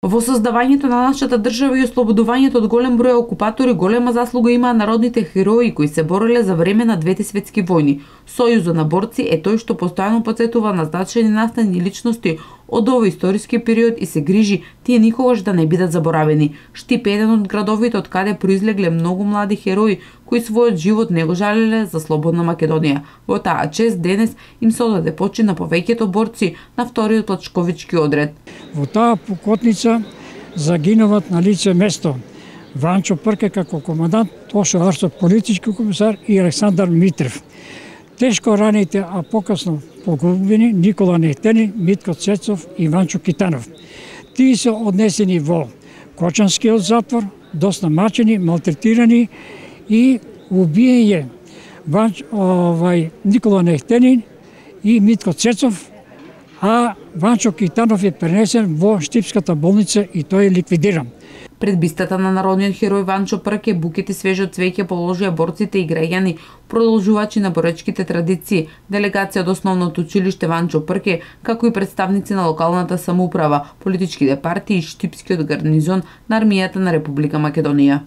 Во создавањето на нашата држава и ослободувањето од голем број окупатори голема заслуга имаа народните херои кои се бореле за време на двете светски војни. Сојузот на борци е тој што постојано потсетува на значајни настани личности од овој историски период и се грижи тие никогаш да не бидат заборавени. Штип е еден од градовите од каде произлегле многу млади херои кои својот живот не го жалеле за слободна Македонија. Во таа чест денес им се одаде почит на повеќето борци на вториот плачковички одред. Во таа покотница загинуват на лице место Ванчо Прке како командант, Тошо Арсов политички комисар и Александар Митрев. Тешко раните, а покасно погубени Никола Нехтени, Митко Цецов и Ванчо Китанов. Тие се однесени во Кочанскиот затвор, доста мачени, малтретирани и убиен Никола Нехтени и Митко Цецов, а Ванчо Китанов е пренесен во Штипската болница и тој е ликвидиран. Пред бистата на народниот херој Ванчо Прке букети свежо цвеќе положија борците и граѓани, продолжувачи на боречките традиции, делегација од основното училиште Ванчо Прке, како и представници на локалната самоуправа, политичките партии и Штипскиот гарнизон на армијата на Република Македонија.